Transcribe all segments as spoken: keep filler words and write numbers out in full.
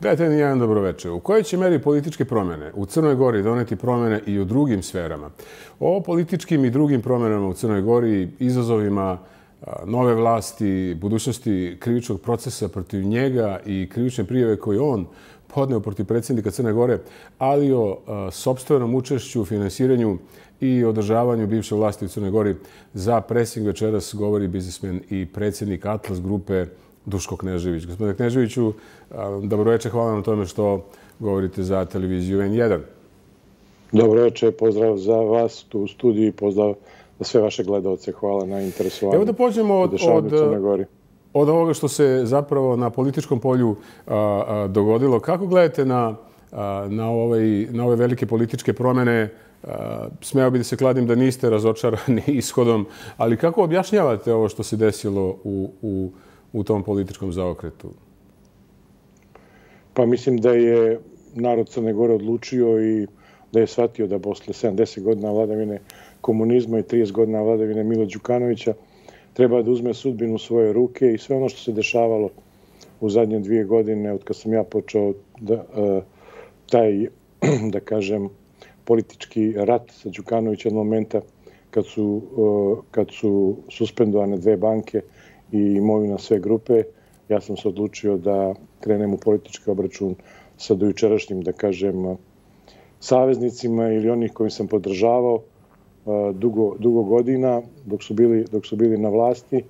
Gledajte, jedan dobroveče. U kojoj će meri političke promjene u Crnoj Gori doneti promjene i u drugim sferama? O političkim i drugim promjenama u Crnoj Gori, izazovima nove vlasti, budućnosti krivičnog procesa protiv njega i krivične prijave koje on podneo protiv predsjednika Crne Gore, ali o sopstvenom učešću, finansiranju i održavanju bivše vlasti u Crnoj Gori. Za Presing večeras govori biznismen i predsjednik Atlas grupe Duško Knežević. Gospodine Kneževiću, dobroveče, hvala na tome što govorite za televiziju en jedan. Dobroveče, pozdrav za vas tu u studiju i pozdrav za sve vaše gledalce. Hvala na interesovanju. Evo da pođemo od, od, od ovoga što se zapravo na političkom polju a, a, dogodilo. Kako gledate na, a, na, ovaj, na ove velike političke promjene? A, smeo bi da se kladim da niste razočarani ishodom, ali kako objašnjavate ovo što se desilo u, u u tom političkom zaokretu? Pa mislim da je narod Crne Gore odlučio i da je shvatio da posle sedamdeset godina vladavine komunizma i trideset godina vladavine Mila Đukanovića treba da uzme sudbinu u svoje ruke i sve ono što se dešavalo u zadnje dvije godine od kad sam ja počeo da, taj, da kažem, politički rat sa Đukanovićem od momenta kad su, kad su suspendovane dve banke i imovina sve grupe, ja sam se odlučio da krenem u politički obračun sa dojučerašnjim, da kažem, saveznicima ili onih kojim sam podržavao dugo, dugo godina dok su, bili, dok su bili na vlasti.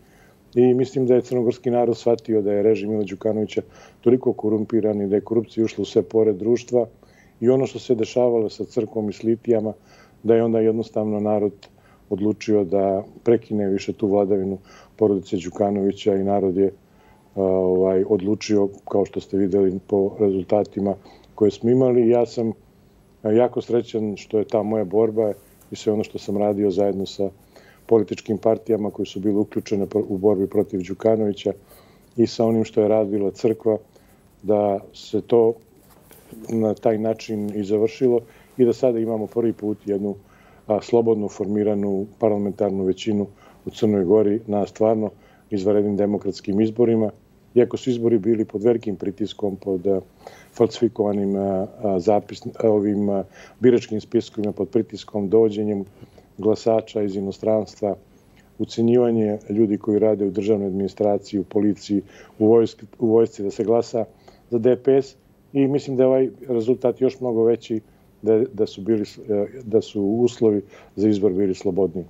I mislim da je crnogorski narod shvatio da je režim Mila Đukanovića toliko korumpiran i da je korupcija ušla u sve pore društva i ono što se dešavalo sa crkvom i s litijama, da je onda jednostavno narod odlučio da prekine više tu vladavinu porodice Đukanovića i narod je ovaj, odlučio, kao što ste vidjeli po rezultatima koje smo imali. Ja sam jako srećan što je ta moja borba i sve ono što sam radio zajedno sa političkim partijama koji su bili uključene u borbi protiv Đukanovića i sa onim što je radila crkva, da se to na taj način i završilo i da sada imamo prvi put jednu a, slobodno formiranu parlamentarnu većinu u Crnoj Gori na stvarno izvanrednim demokratskim izborima. Iako su izbori bili pod velikim pritiskom, pod a, falsifikovanim a, a, zapis, a, ovim a, biračkim spiskovima, pod pritiskom dođenjem glasača iz inostranstva, ucenjivanje ljudi koji rade u državnoj administraciji, u policiji, u vojsci, u vojsci da se glasa za de pe es. I mislim da je ovaj rezultat još mnogo veći, da, da, su, bili, da su uslovi za izbor bili slobodniji.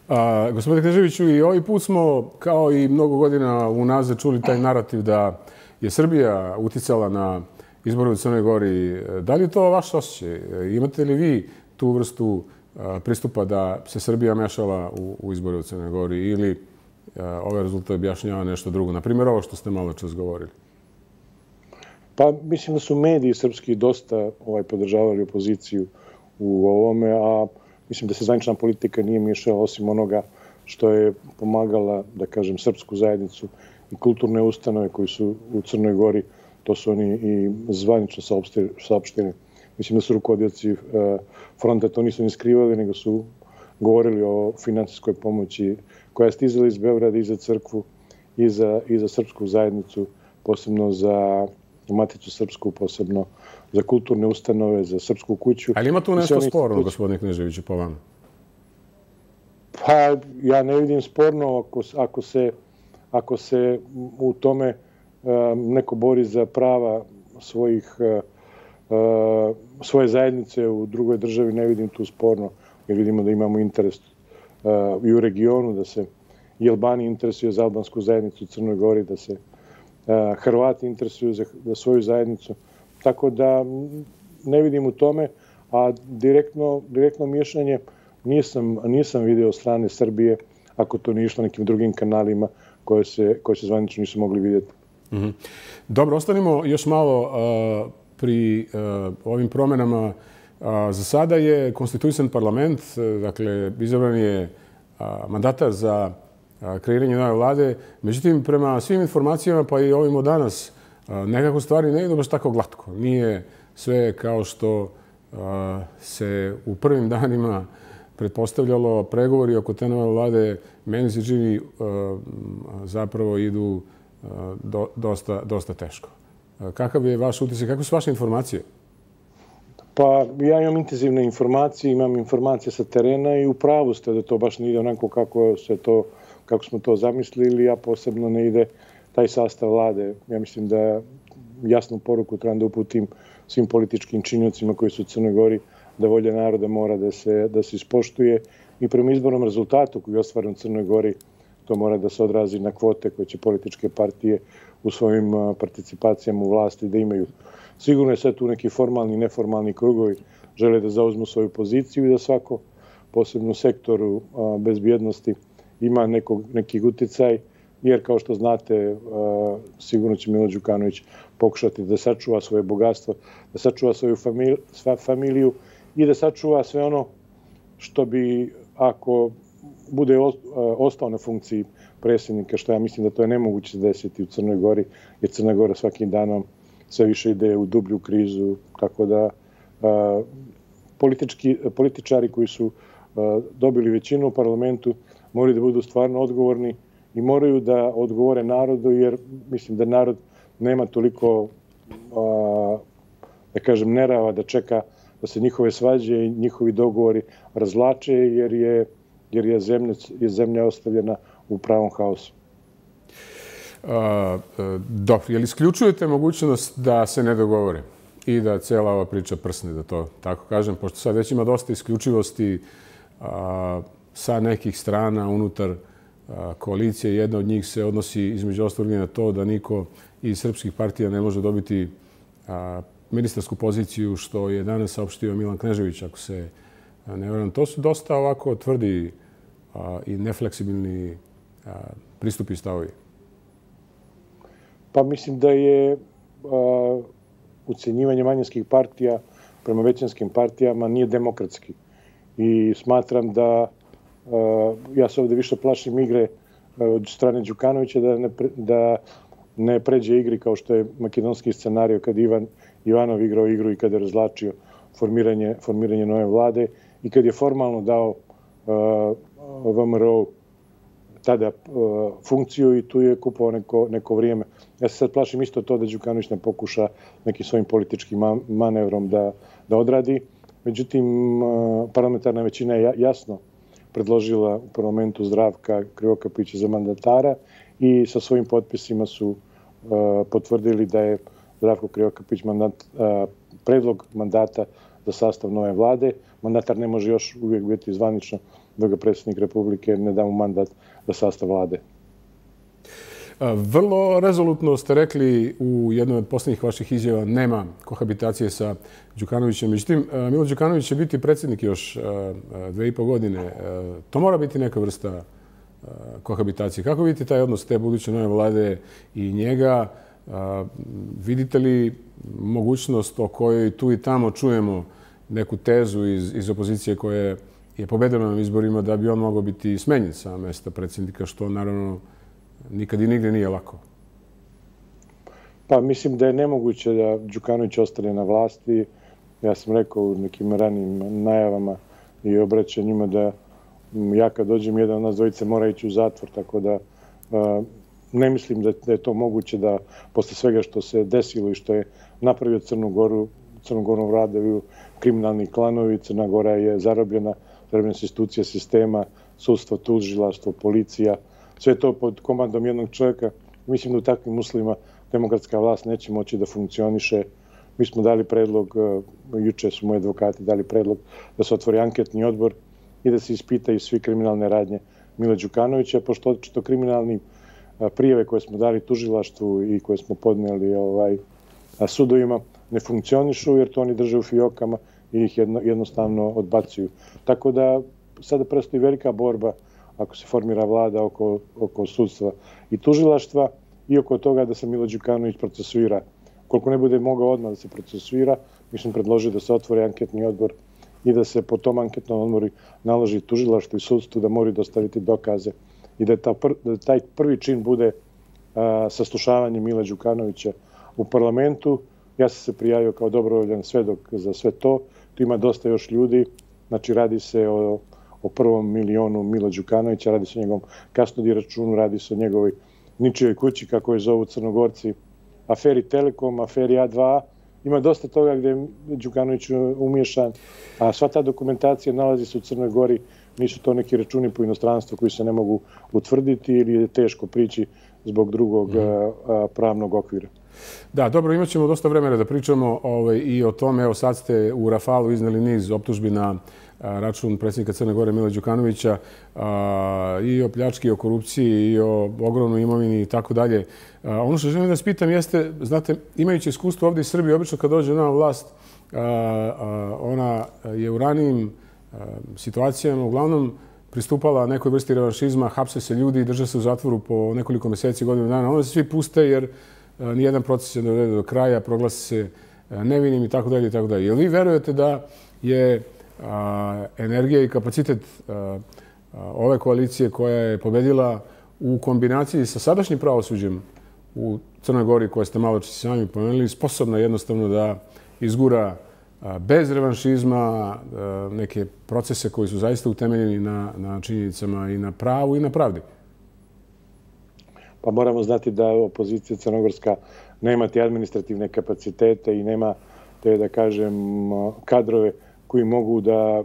A, gospodine Kneževiću, i ovaj put smo, kao i mnogo godina unazad, čuli taj narativ da je Srbija uticala na izbore u Crnoj Gori. Da li je to vaš osjećaj? Imate li vi tu vrstu a, pristupa da se Srbija mešala u, u izbore u Crnoj Gori ili a, ovaj rezultat objašnjava nešto drugo? Naprimjer, ovo što ste malo čas govorili. Pa mislim da su mediji srpski dosta ovaj, podržavali opoziciju u ovome, a mislim da se zvanična politika nije miješala osim onoga što je pomagala, da kažem, srpsku zajednicu i kulturne ustanove koji su u Crnoj Gori, to su oni i zvanično saopšteni. Mislim da su rukovodioci fronta to nisu ni skrivali, nego su govorili o finansijskoj pomoći koja je stizala iz Beograda i za crkvu i za, i za srpsku zajednicu, posebno za Maticu srpsku, posebno za kulturne ustanove, za srpsku kuću. Ali ima tu nešto sporno, gospodine Kneževiću, po vama? Pa ja ne vidim sporno ako, ako, se, ako se u tome um, neko bori za prava svojih, uh, svoje zajednice u drugoj državi, ne vidim tu sporno, jer vidimo da imamo interes uh, i u regionu, da se i Albani interesuje za albansku zajednicu u Crnoj Gori, da se Hrvati interesuju za svoju zajednicu. Tako da ne vidim u tome, a direktno, direktno miješanje nisam, nisam vidio od strane Srbije, ako to nije išlo nekim drugim kanalima koje se, koje se zvanično nisu mogli vidjeti. Mm-hmm. Dobro, ostanimo još malo uh, pri uh, ovim promjenama. Uh, za sada je konstituisan parlament, uh, dakle, izabran je uh, mandatar za kreiranje nove vlade. Međutim, prema svim informacijama, pa i ovim od danas, nekako stvari ne idu baš tako glatko. Nije sve kao što se u prvim danima pretpostavljalo. Pregovori oko te nove vlade, meni se čini, zapravo idu dosta, dosta teško. Kakav je vaš utisak, kakve su vaše informacije? Pa ja imam intenzivne informacije, imam informacije sa terena i u pravu ste da to baš ne ide onako kako, se to, kako smo to zamislili, a posebno ne ide taj sastav vlade. Ja mislim da jasnu poruku trebam da uputim svim političkim činiocima koji su u Crnoj Gori, da volja naroda mora da se, da se ispoštuje i prema izbornom rezultatu koji je ostvaren u Crnoj Gori, to mora da se odrazi na kvote koje će političke partije u svojim participacijama u vlasti da imaju. Sigurno je sve tu neki formalni i neformalni krugovi žele da zauzmu svoju poziciju i da svako, posebno u sektoru bezbjednosti, ima nekog, neki uticaj, jer kao što znate, sigurno će Milo Đukanović pokušati da sačuva svoje bogatstvo, da sačuva svoju familiju, familiju i da sačuva sve ono što bi, ako bude ostao na funkciji predsjednika, što ja mislim da to je nemoguće desiti u Crnoj Gori, jer Crna Gora svakim danom sve više ide u dublju krizu, tako da a, politički, političari koji su a, dobili većinu u parlamentu moraju da budu stvarno odgovorni i moraju da odgovore narodu, jer mislim da narod nema toliko, a, da kažem, nerava da čeka da se njihove svađe i njihovi dogovori razvlače, jer je, jer je, zemlja, je zemlja ostavljena u pravom haosu. A, dobro, je li isključujete mogućnost da se ne dogovore i da cijela ova priča prsne, da to tako kažem, pošto sad već ima dosta isključivosti a, sa nekih strana unutar a, koalicije. Jedna od njih se odnosi između ostalog na to da niko iz srpskih partija ne može dobiti a, ministarsku poziciju, što je danas saopštio Milan Knežević, ako se ne varam. To su dosta ovako tvrdi a, i nefleksibilni a, pristupi i stavovi. Pa mislim da je a, ucenjivanje manjinskih partija prema većinskim partijama nije demokratski. I smatram da, a, ja se ovdje više plašim igre a, od strane Đukanovića da ne, pre, da ne pređe igri kao što je makedonski scenario kad Ivan Ivanov igrao igru i kad je razlačio formiranje, formiranje nove vlade i kad je formalno dao uh, V M R O tada uh, funkciju i tu je kupao neko, neko vrijeme. Ja se sad plašim isto to da Đukanović ne pokuša nekim svojim političkim manevrom da, da odradi. Međutim, uh, parlamentarna većina je jasno predložila u parlamentu Zdravka Krivokapića za mandatara i sa svojim potpisima su uh, potvrdili da je Zdravko Krivokapić mandat, uh, predlog mandata za sastav nove vlade. Mandatar ne može još uvijek biti zvanično dok ga predsjednik Republike ne da mu mandat za sastav vlade. Vrlo rezolutno ste rekli u jednoj od posljednjih vaših izjava nema kohabitacije sa Đukanovićem. Međutim, Milo Đukanović će biti predsjednik još dve i po godine. To mora biti neka vrsta kohabitacije. Kako vidite taj odnos te buduće nove vlade i njega? Vidite li mogućnost o kojoj tu i tamo čujemo neku tezu iz, iz opozicije koja je pobedila na izborima da bi on mogao biti smenjen sa mjesta predsjednika, što naravno nikad i nigdje nije lako? Pa mislim da je nemoguće da Đukanović ostane na vlasti. Ja sam rekao u nekim ranim najavama i obraćanjima da ja kad dođem jedan od nas dvojice mora ići u zatvor, tako da uh, ne mislim da, da je to moguće da posle svega što se desilo i što je napravio Crnu Goru, Crnu Goru vladaju kriminalni klanovi, Crna Gora je zarobljena, zarobljena su institucija sistema, sudstvo, tužilaštvo, policija, sve to pod komandom jednog čovjeka. Mislim da u takvim uslovima demokratska vlast neće moći da funkcioniše. Mi smo dali predlog, juče su moji advokati dali predlog da se otvori anketni odbor i da se ispitaju svi kriminalne radnje Mila Đukanovića, pošto očito kriminalni prijave koje smo dali tužilaštvu i koje smo podnijeli ovaj, sudovima ne funkcionišu jer to oni drže u fijokama i ih jedno, jednostavno odbacuju. Tako da sada prestoji velika borba ako se formira vlada oko, oko sudstva i tužilaštva i oko toga da se Milo Đukanović procesuira. Koliko ne bude mogao odmah da se procesuira, mi smo predložili da se otvori anketni odbor i da se po tom anketnom odboru naloži tužilaštvu i sudstvu da moraju dostaviti dokaze i da, ta pr, da taj prvi čin bude a, saslušavanje Mila Đukanovića u parlamentu. Ja sam se prijavio kao dobrovoljan svedok za sve to. Tu ima dosta još ljudi. Znači, radi se o, o prvom milionu Mila Đukanovića, radi se o njegovom kasnodi računu, radi se o njegovoj ničijoj kući, kako je zovu Crnogorci. aferi Telekom, aferi A dva A. Ima dosta toga gde je Đukanović umješan, a sva ta dokumentacija nalazi se u Crnoj Gori. Nisu to neki računi po inostranstvu koji se ne mogu utvrditi ili je teško prići zbog drugog pravnog okvira. Da, dobro, imat ćemo dosta vremena da pričamo i o tome. Evo sad ste u Rafalu izneli niz optužbi na račun predsjednika Crne Gore Mila Đukanovića i o pljački, i o korupciji, i o ogromnoj imovini i tako dalje. Ono što želim da vas pitam jeste, znate, imajući iskustvo ovdje iz Srbije, obično kad dođe nova vlast, ona je u ranijim situacijama uglavnom pristupala nekoj vrsti revanšizma, hapse se ljudi i drže se u zatvoru po nekoliko mjeseci, godinu dana. Onda se svi puste jer nijedan proces se ne dovede do kraja, proglasi se nevinim i tako dalje i tako dalje. Jel vi verujete da je energija i kapacitet ove koalicije koja je pobedila u kombinaciji sa sadašnjim pravosuđem u Crnoj Gori, koje ste malo čas sami pomenuli, sposobna jednostavno da izgura bez revanšizma neke procese koji su zaista utemeljeni na, na činjenicama i na pravu i na pravdi? Pa moramo znati da opozicija crnogorska nema te administrativne kapacitete i nema te, da kažem, kadrove koji mogu da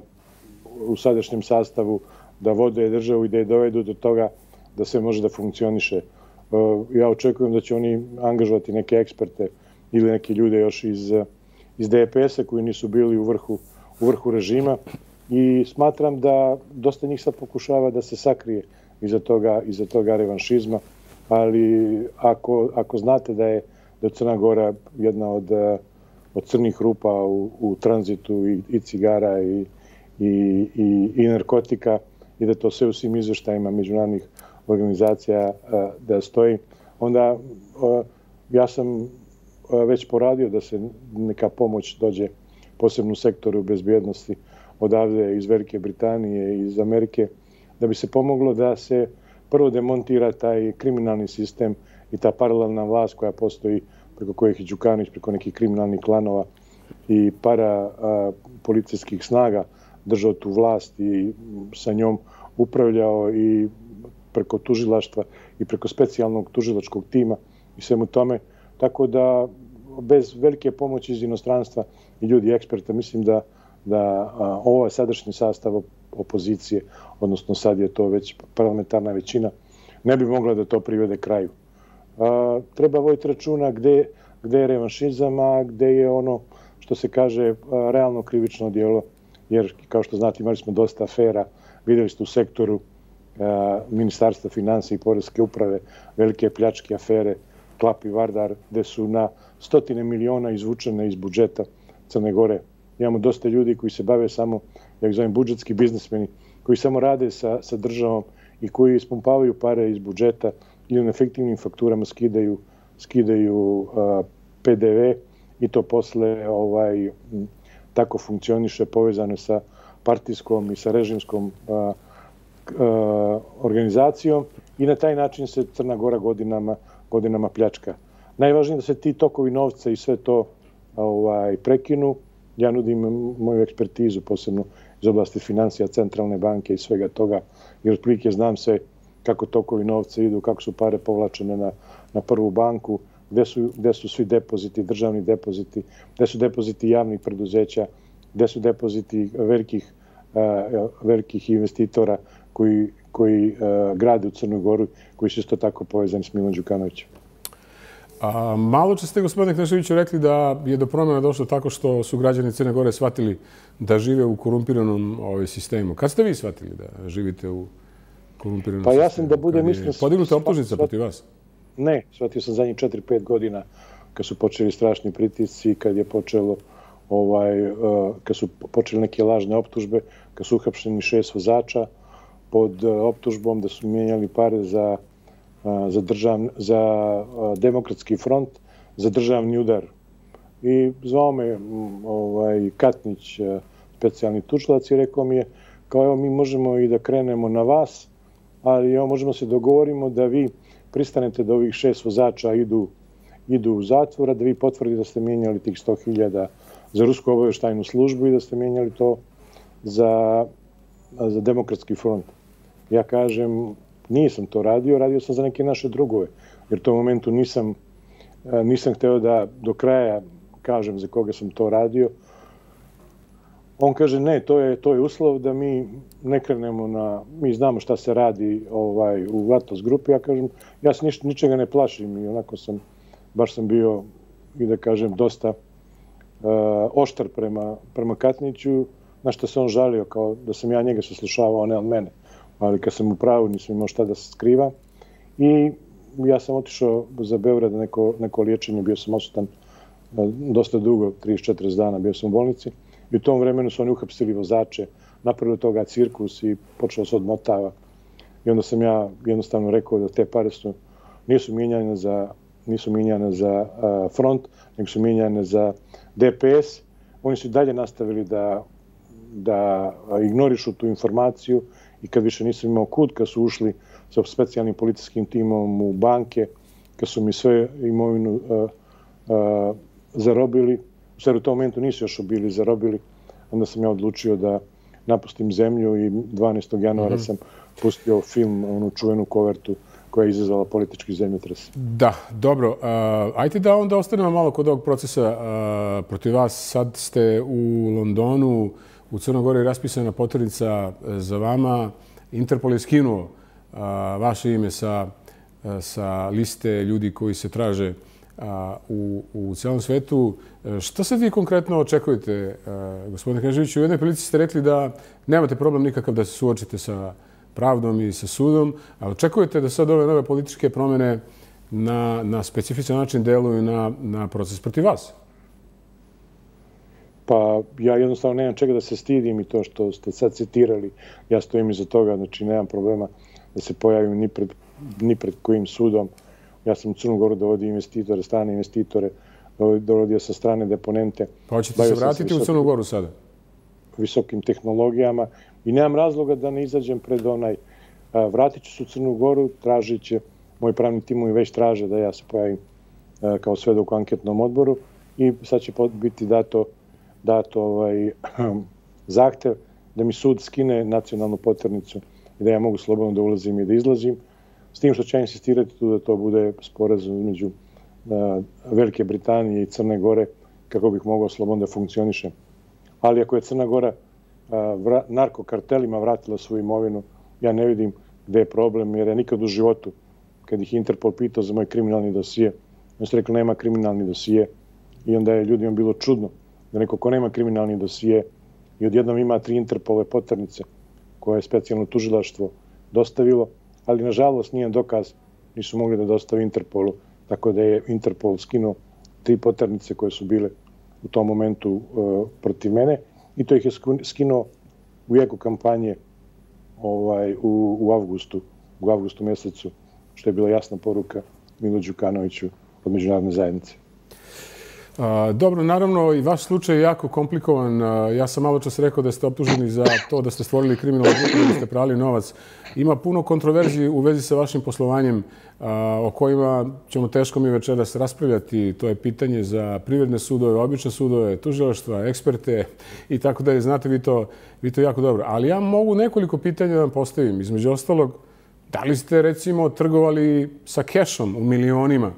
u sadašnjem sastavu da vode državu i da je dovedu do toga da sve može da funkcioniše. Ja očekujem da će oni angažovati neke eksperte ili neke ljude još iz, iz D P S-a koji nisu bili u vrhu, u vrhu režima i smatram da dosta njih sad pokušava da se sakrije iza toga, iza toga revanšizma, ali ako, ako znate da je, da je Crna Gora jedna od, od crnih rupa u, u tranzitu i, i cigara i, i, i, i narkotika i da to sve u svim izveštajima međunarodnih organizacija da stoji, onda ja sam već poradio da se neka pomoć dođe posebno u sektoru bezbjednosti odavde iz Velike Britanije i iz Amerike, da bi se pomoglo da se prvo demontira taj kriminalni sistem i ta paralelna vlast koja postoji preko kojih je Đukanović, preko nekih kriminalnih klanova i para policijskih snaga držao tu vlast i sa njom upravljao i preko tužilaštva i preko specijalnog tužilačkog tima i svemu tome. Tako da bez velike pomoći iz inostranstva i ljudi eksperta mislim da, da ovo je sadašnji sastav opozicije, odnosno sad je to već parlamentarna većina, ne bi mogla da to privede kraju. A, treba voditi računa gde, gde je revanšizam, a gde je ono što se kaže a, realno krivično djelo, jer kao što znate imali smo dosta afera, vidjeli ste u sektoru a, Ministarstva financija i Poreske uprave, velike pljačke afere, Klap i Vardar, gde su na stotine miliona izvučene iz budžeta Crne Gore. Imamo dosta ljudi koji se bave samo, ja ih zovem, budžetski biznismeni, koji samo rade sa, sa državom i koji ispumpavaju pare iz budžeta ili na fiktivnim fakturama skidaju, skidaju a, P D V i to posle ovaj, tako funkcioniše povezano sa partijskom i sa režimskom a, a, organizacijom i na taj način se Crna Gora godinama, godinama pljačka. Najvažnije je da se ti tokovi novca i sve to ovaj, prekinu. Ja nudim moju ekspertizu, posebno iz oblasti financija, centralne banke i svega toga, jer otprilike znam se kako tokovi novca idu, kako su pare povlačene na, na prvu banku, gde su, gde su svi depoziti, državni depoziti, gde su depoziti javnih preduzeća, gde su depoziti velikih, uh, velikih investitora koji, koji uh, grade u Crnoj Goru, koji su isto tako povezani s Milom Đukanovićem. A, malo čas ste, gospodine Kneževiću, rekli da je do promjena došlo tako što su građani Crne Gore shvatili da žive u korumpiranom ovaj, sistemu. Kad ste vi shvatili da živite u korumpiranom sistemu? Pa ja sam da budem iskren... Podignuta optužnica protiv vas? Ne, shvatio sam zadnjih četiri pet godina kad su počeli strašni pritisci, kad je počelo ovaj, kad su počeli neke lažne optužbe, kad su uhapšeni šest vozača pod optužbom da su mijenjali pare za za, držav, za demokratski front, za državni udar. I zvao me ovaj, Katnić, specijalni tužilac, i rekao mi je, kao evo mi možemo i da krenemo na vas, ali evo možemo se dogovorimo da vi pristanete da ovih šest vozača idu, idu u zatvor, da vi potvrdite da ste mijenjali tih sto hiljada za rusku obavještajnu službu i da ste mijenjali to za, za demokratski front. Ja kažem, nisam to radio, radio sam za neke naše drugove, jer u tom momentu nisam, nisam hteo da do kraja kažem za koga sam to radio. On kaže ne, to je, to je uslov da mi ne krenemo na, mi znamo šta se radi ovaj, u Atlas grupi. Ja kažem, ja se niš, ničega ne plašim i onako sam, baš sam bio i da kažem dosta uh, oštar prema, prema Katniću, na što se on žalio kao da sam ja njega saslušavao, a ne on mene. Ali kad sam u pravu nisam imao šta da se skriva. I ja sam otišao za Beograd na neko, neko liječenje, bio sam odsutan dosta dugo, trideset četrdeset dana bio sam u bolnici. I u tom vremenu su oni uhapsili vozače, napravili toga cirkus i počeo se odmotava. I onda sam ja jednostavno rekao da te pare su, nisu mijenjane za, nisu mijenjane za uh, front, nego su mijenjane za D P S. Oni su dalje nastavili da, da ignorišu tu informaciju i kad više nisam imao kud, kad su ušli sa specijalnim policijskim timom u banke, kad su mi sve imovinu uh, uh, zarobili, u stvari u tom momentu nisu još bili zarobili, onda sam ja odlučio da napustim zemlju i dvanaestog januara sam pustio film, onu čuvenu kovertu koja je izazvala politički zemljotres. Da, dobro. Uh, ajde da onda ostanemo malo kod ovog procesa uh, protiv vas. Sad ste u Londonu, u Crnoj Gori raspisana poternica za vama. Interpol je skinuo uh, vaše ime sa, uh, sa liste ljudi koji se traže u, u cijelom svetu. Šta sad vi konkretno očekujete, gospodine Kneževiću? U jednoj prilici ste rekli da nemate problem nikakav da se suočite sa pravdom i sa sudom, ali očekujete da sad ove nove političke promjene na, na specifičan način deluju na, na proces protiv vas? Pa ja jednostavno nemam čega da se stidim i to što ste sad citirali, ja stojim iza toga, znači nemam problema da se pojavim ni pred, ni pred kojim sudom. Ja sam u Crnu Goru dovodio investitore, strane investitore, dovodio sa strane deponente. Pa hoćete se vratiti u Crnu Goru sada? Visokim tehnologijama i nemam razloga da ne izađem pred onaj. Vratit ću se u Crnu Goru, tražit će, moji pravni timovi već traže da ja se pojavim kao svedok u anketnom odboru i sad će biti dato, dato ovaj, zahtev da mi sud skine nacionalnu poternicu i da ja mogu slobodno da ulazim i da izlazim. S tim što će insistirati tu da to bude sporazum između uh, Velike Britanije i Crne Gore kako bih mogao slobodno da funkcionišem. Ali ako je Crna Gora uh, vra, narkokartelima vratila svoju imovinu, ja ne vidim gde je problem, jer ja nikad u životu, kad ih Interpol pitao za moj kriminalni dosije, oni su rekli nema kriminalni dosije i onda je ljudima bilo čudno da neko ko nema kriminalni dosije i odjednom ima tri Interpolove poternice koje je specijalno tužilaštvo dostavilo, ali nažalost nijedan dokaz nisu mogli da dostave Interpolu, tako da je Interpol skinuo tri poternice koje su bile u tom momentu uh, protiv mene i to ih je skinuo u jeku kampanje ovaj, u, u avgustu, u avgustu mjesecu, što je bila jasna poruka Milo Đukanoviću od međunarodne zajednice. A, dobro, naravno i vaš slučaj je jako komplikovan. A, ja sam malo čas rekao da ste optuženi za to da ste stvorili kriminalnu grupu, da ste prali novac. Ima puno kontroverziji u vezi sa vašim poslovanjem a, o kojima ćemo teško mi večeras raspravljati. To je pitanje za privredne sudove, obične sudove, tužilaštva, eksperte i tako da je. Znate vi to, vi to jako dobro. Ali ja mogu nekoliko pitanja da vam postavim. Između ostalog, da li ste recimo trgovali sa kešom u milionima?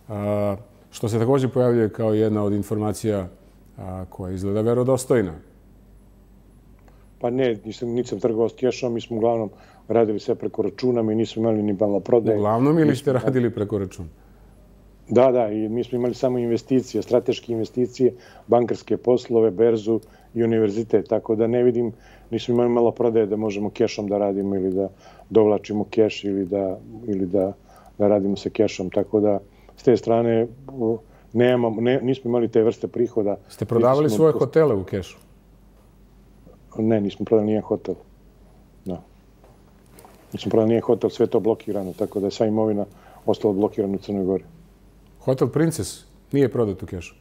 A, što se također pojavljuje kao jedna od informacija a, koja izgleda verodostojna. Pa ne, nisam, nisam trgovao s kešom, mi smo uglavnom radili sve preko računa, mi nismo imali ni maloprodaje. Uglavnom ili ste radili preko računa? Da, da, i mi smo imali samo investicije, strateške investicije, bankarske poslove, berzu i univerzitet, tako da ne vidim, nismo imali maloprodaje da možemo kešom da radimo ili da dovlačimo keš ili da, ili da, da radimo sa kešom, tako da s te strane nemamo, ne, nismo imali te vrste prihoda. Ste prodavali smo, svoje hotele u kešu? Ne, nismo prodali nijedan hotel. No. Nismo prodali nijedan hotel, sve to blokirano, tako da je sva imovina ostala blokirana u Crnoj Gori. Hotel Princess nije prodat u kešu?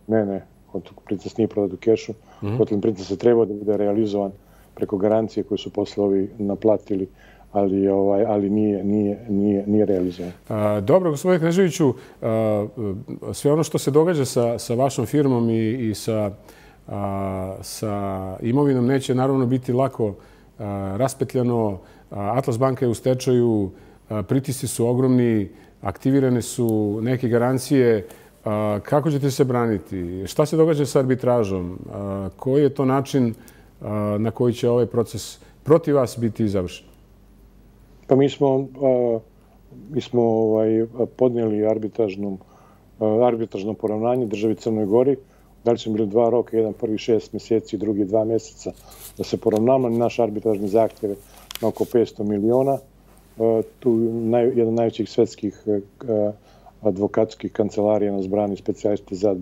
Ne, ne. Hotel Princess nije prodat u kešu. Mm-hmm. Hotel Princess je trebao da bude realizovan preko garancije koje su poslovi naplatili, ali ovaj ali nije nije nije nije realizovan. A, dobro, gospodine Kneževiću, a, sve ono što se događa sa sa vašom firmom i i sa a, sa imovinom neće naravno biti lako a, raspetljano. A, Atlas banka je u stečaju, a, pritisci su ogromni. aktivirane su neke garancije. Kako ćete se braniti? Šta se događa sa arbitražom? Koji je to način na koji će ovaj proces protiv vas biti završen? Pa mi smo, mi smo ovaj, podnijeli arbitražnom, arbitražno poravnanje državi Crnoj Gori. Da li smo bili dva roka, jedan prvi šest mjeseci, drugi dva mjeseca da se poravnamo. Naš arbitražni zahtjev je na oko petsto miliona. Tu naj, jedan od najvećih svetskih advokatskih kancelarija nas brani, specijalisti za,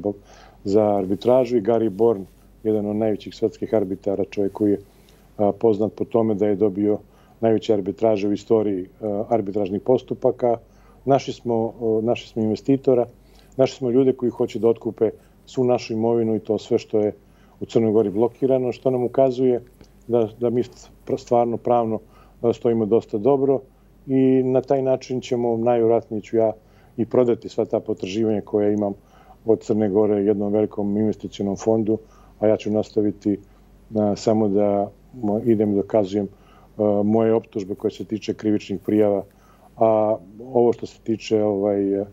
za arbitražu, i Gary Born, jedan od najvećih svetskih arbitara, čovjek koji je poznat po tome da je dobio najveće arbitraže u istoriji arbitražnih postupaka. Naši smo, naši smo investitora, naši smo ljude koji hoće da otkupe svu našu imovinu i to sve što je u Crnoj Gori blokirano, što nam ukazuje da, da mi stvarno pravno stojimo dosta dobro i na taj način ćemo, najvjerojatnije ću ja i prodati sva ta potraživanja koja imam od Crne Gore jednom velikom investicionom fondu, a ja ću nastaviti a, samo da mo, idem i dokazujem a, moje optužbe koje se tiče krivičnih prijava. A ovo što se tiče, ovaj,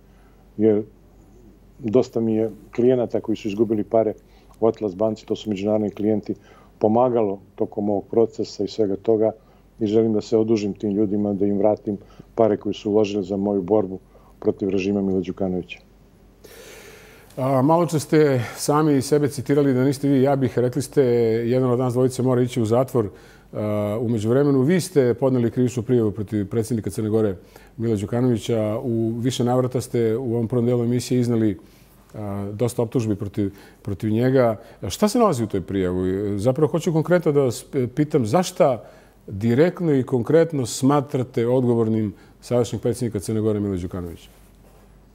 jer dosta mi je klijenata koji su izgubili pare u Atlas banci, to su međunarodni klijenti, pomagalo tokom ovog procesa i svega toga i želim da se odužim tim ljudima, da im vratim pare koje su uložili za moju borbu protiv režima Mila Đukanovića. A, malo če ste sami sebe citirali da niste vi, ja bih, rekli ste, jedan od nas dvojice mora ići u zatvor. U međuvremenu vi ste podneli krivičnu prijavu protiv predsjednika Crne Gore Mila Đukanovića. U više navrata ste u ovom prvom delu emisije iznali a, dosta optužbi protiv, protiv njega. Šta se nalazi u toj prijavu? Zapravo hoću konkretno da vas pitam zašta direktno i konkretno smatrate odgovornim sadašnjeg predsjednika Crne Gore Mila Đukanovića?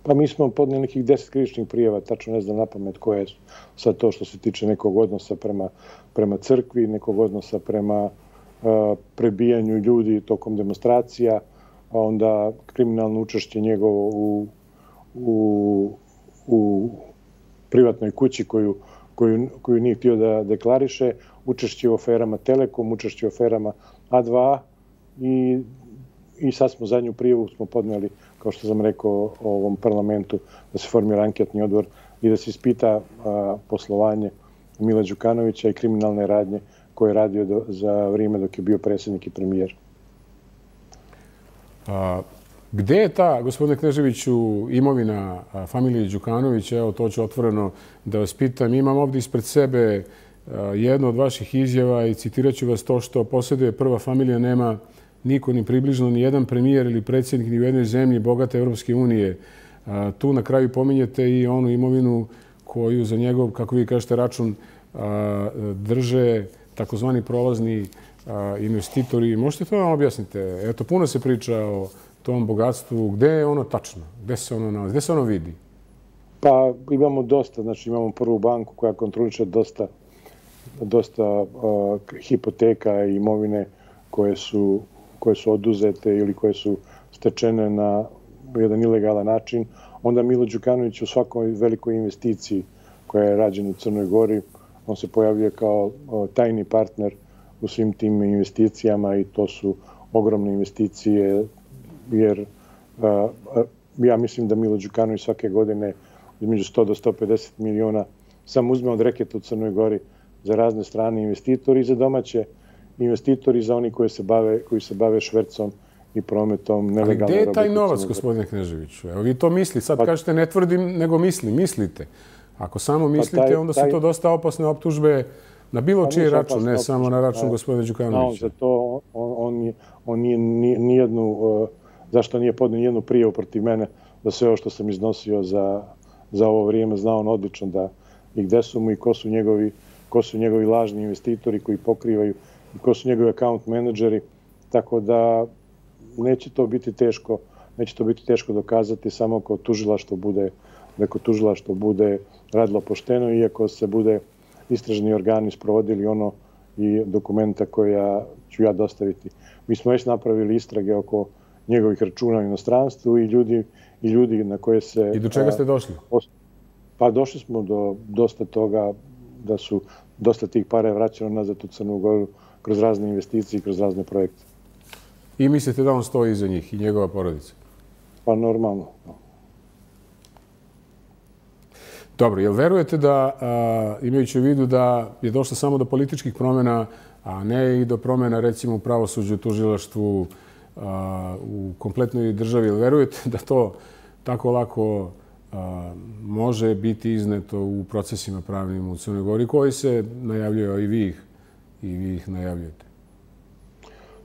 Pa mi smo podnijeli nekih deset krivičnih prijava, tačno ne znam napamet koje su sad to što se tiče nekog odnosa prema, prema crkvi, nekog odnosa prema uh, prebijanju ljudi tokom demonstracija, a onda kriminalno učešće njegovo u, u, u privatnoj kući koju, koju, koju nije htio da deklariše, učešće u aferama Telekom, učešće u aferama A dva A i I sad smo zadnju prijavu smo podnijeli, kao što sam rekao, ovom parlamentu, da se formira anketni odbor i da se ispita a, poslovanje Mila Đukanovića i kriminalne radnje koje je radio do, za vrijeme dok je bio predsjednik i premijer. A, gde je ta, gospodine Kneževiću, imovina a, familije Đukanovića? Evo, to ću otvoreno da vas pitam. Imam ovdje ispred sebe a, jednu od vaših izjava i citirat ću vas: to što posjeduje prva familija nema niko ni približno, ni jedan premijer ili predsjednik ni u jednoj zemlji bogate Evropske unije. A, tu na kraju pominjete i onu imovinu koju za njegov, kako vi kažete, račun a, drže takozvani prolazni a, investitori. Možete to vam objasnite? Eto, puno se priča o tom bogatstvu. Gde je ono tačno? Gde se ono nalazi? Gde se ono vidi? Pa imamo dosta. Znači imamo prvu banku koja kontroliše dosta, dosta a, hipoteka i imovine koje su koje su oduzete ili koje su stečene na jedan ilegalan način. Onda Milo Đukanović u svakoj velikoj investiciji koja je rađena u Crnoj Gori, on se pojavio kao tajni partner u svim tim investicijama i to su ogromne investicije, jer a, a, ja mislim da Milo Đukanović svake godine između sto do sto pedeset miliona sam uzme od reketa u Crnoj Gori za razne strane investitori i za domaće investitori, za oni koji se bave, koji se bave švercom i prometom nelegalno. Ali gdje je taj novac, gospodine Kneževiću? Evo, vi to mislite. Sad pa, kažete ne tvrdim, nego mislim. Mislite. Ako samo mislite, pa taj, onda su taj, to dosta opasne optužbe na bilo pa čiji račun, ne samo na račun gospodina Đukanovića. No, za to on, on, on nije nijednu, uh, zašto nije podnio nijednu prijavu protiv mene, da sve ovo što sam iznosio za, za ovo vrijeme zna on odlično da i gde su mu i ko su njegovi, ko su njegovi lažni investitori koji pokrivaju i ko su njegovi account menadžeri, tako da neće to biti teško, neće to biti teško dokazati samo ako tužilaštvo bude, da ako tužilaštvo bude radilo pošteno i ako se bude istražni organi sprovodili ono i dokumenta koja ću ja dostaviti. Mi smo već napravili istrage oko njegovih računa u inostranstvu i ljudi, i ljudi na koje se... I do čega ste došli? Pa došli smo do dosta toga da su dosta tih para vraćano nazad u Crnu Goru kroz razne investicije i kroz razne projekte. I mislite da on stoji iza njih i njegova porodica? Pa normalno. Dobro, jel verujete da, imajući u vidu da je došlo samo do političkih promjena, a ne i do promjena recimo u pravosuđu, tužilaštvu, u kompletnoj državi, jel verujete da to tako lako može biti izneto u procesima pravnim u Crnoj Gori, koji se najavljuju, a i vi ih, i vi ih najavljujete?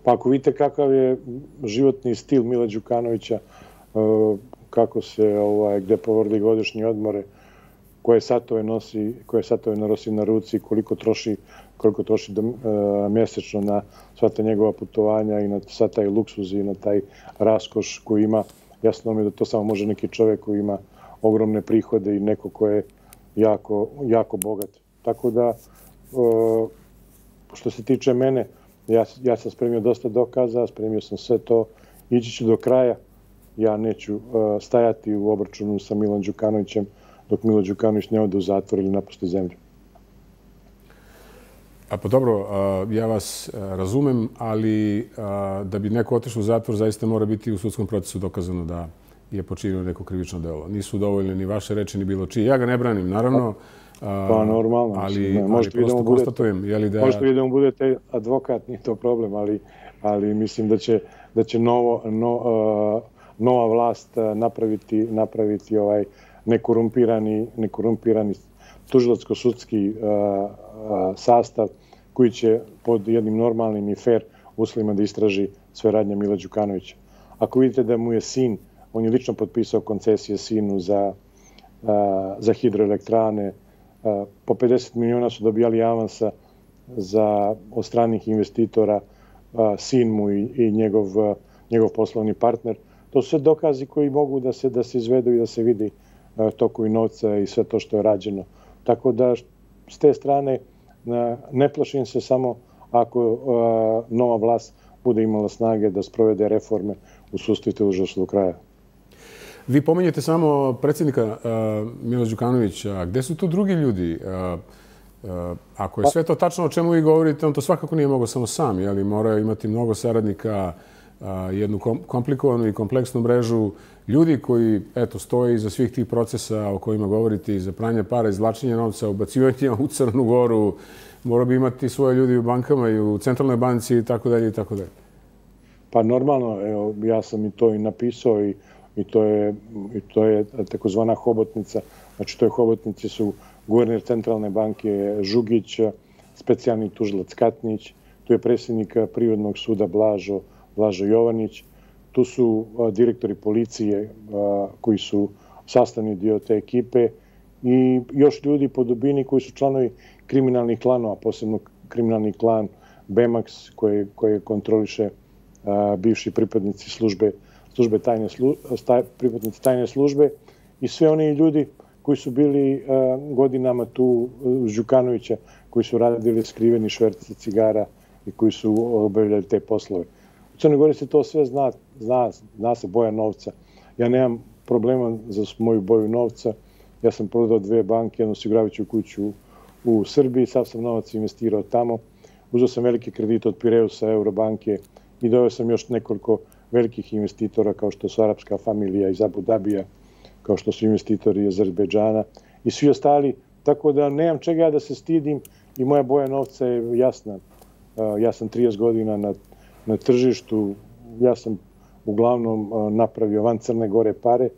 Pa ako vidite kakav je životni stil Mila Đukanovića, kako se, ovaj, gde provodi godišnje odmore, koje satove nosi, koje satove nosi na ruci, koliko troši, koliko troši do, uh, mjesečno na sva ta njegova putovanja i na sva taj luksuz i na taj raskoš koji ima. Jasno mi je da to samo može neki čovjek koji ima ogromne prihode i neko ko je jako, jako bogat. Tako da, uh, što se tiče mene, ja, ja sam spremio dosta dokaza, spremio sam sve to, ići ću do kraja. Ja neću uh, stajati u obračunu sa Milom Đukanovićem dok Milo Đukanović ne ode u zatvor ili napusti zemlju. A pa dobro, ja vas razumem, ali da bi neko otišao u zatvor, zaista mora biti u sudskom procesu dokazano da je počinio neko krivično delo. Nisu dovoljne ni vaše reči, ni bilo čiji. Ja ga ne branim, naravno. Pa normalno. Ali, ali prosto konstatujem. Je li da... Možete vi da mu budete advokat, nije to problem, ali, ali mislim da će, da će novo, no, uh, nova vlast napraviti, napraviti ovaj nekorumpirani, nekorumpirani tužilačko-sudski uh, uh, sastav koji će pod jednim normalnim i fair uslovima da istraži sve radnje Mila Đukanovića. Ako vidite da mu je sin, on je lično potpisao koncesije sinu za, uh, za hidroelektrane, uh, po pedeset miliona su dobijali avansa za, od stranih investitora, uh, sin mu i, i njegov, uh, njegov poslovni partner. To su sve dokazi koji mogu da se, da se izvedu i da se vidi tokovi novca i sve to što je rađeno. Tako da s te strane ne plašim se samo ako nova vlast bude imala snage da sprovede reforme u sudstvu i tužilaštvu do kraja. Vi pominjete samo predsjednika Mila Đukanovića. Gde su tu drugi ljudi? Ako je sve to tačno o čemu vi govorite, on to svakako nije mogao samo sam, ali mora imati mnogo saradnika, jednu komplikovanu i kompleksnu mrežu ljudi koji, eto, stoje iza svih tih procesa o kojima govorite, iza pranja para, izvlačenja novca, ubacivanja u Crnu Goru. Mora bi imati svoje ljudi u bankama i u centralnoj banci i tako dalje i tako dalje. Pa normalno, evo, ja sam i to i napisao i, i to je, i to je takozvana hobotnica. Znači, to je hobotnice su guverner centralne banke Žugić, specijalni tužilac Katnić, tu je predsjednik Privrednog suda Blažo, Blažo Jovanić, tu su direktori policije koji su sastavni dio te ekipe i još ljudi po dubini koji su članovi kriminalnih klanova, posebno kriminalni klan Bemax koji, koji kontroliše bivši pripadnici službe, službe tajne, slu, pripadnici tajne službe i sve oni ljudi koji su bili godinama tu uz Đukanovića, koji su radili skriveni šverci cigara i koji su obavljali te poslove. U Crnoj Gori se to sve zna, zna, zna se boja novca. Ja nemam problema za moju boju novca. Ja sam prodao dve banke, jednu osiguravajuću kuću u Srbiji, sav sam novac investirao tamo. Uzeo sam velike kredite od Pireusa, Eurobanke i doveo sam još nekoliko velikih investitora kao što su arapska familija iz Abu Dabija, kao što su investitori iz Azerbejdžana i svi ostali. Tako da nemam čega da se stidim i moja boja novca je jasna. Ja sam trideset godina na na tržištu, ja sam uglavnom napravio van Crne Gore pare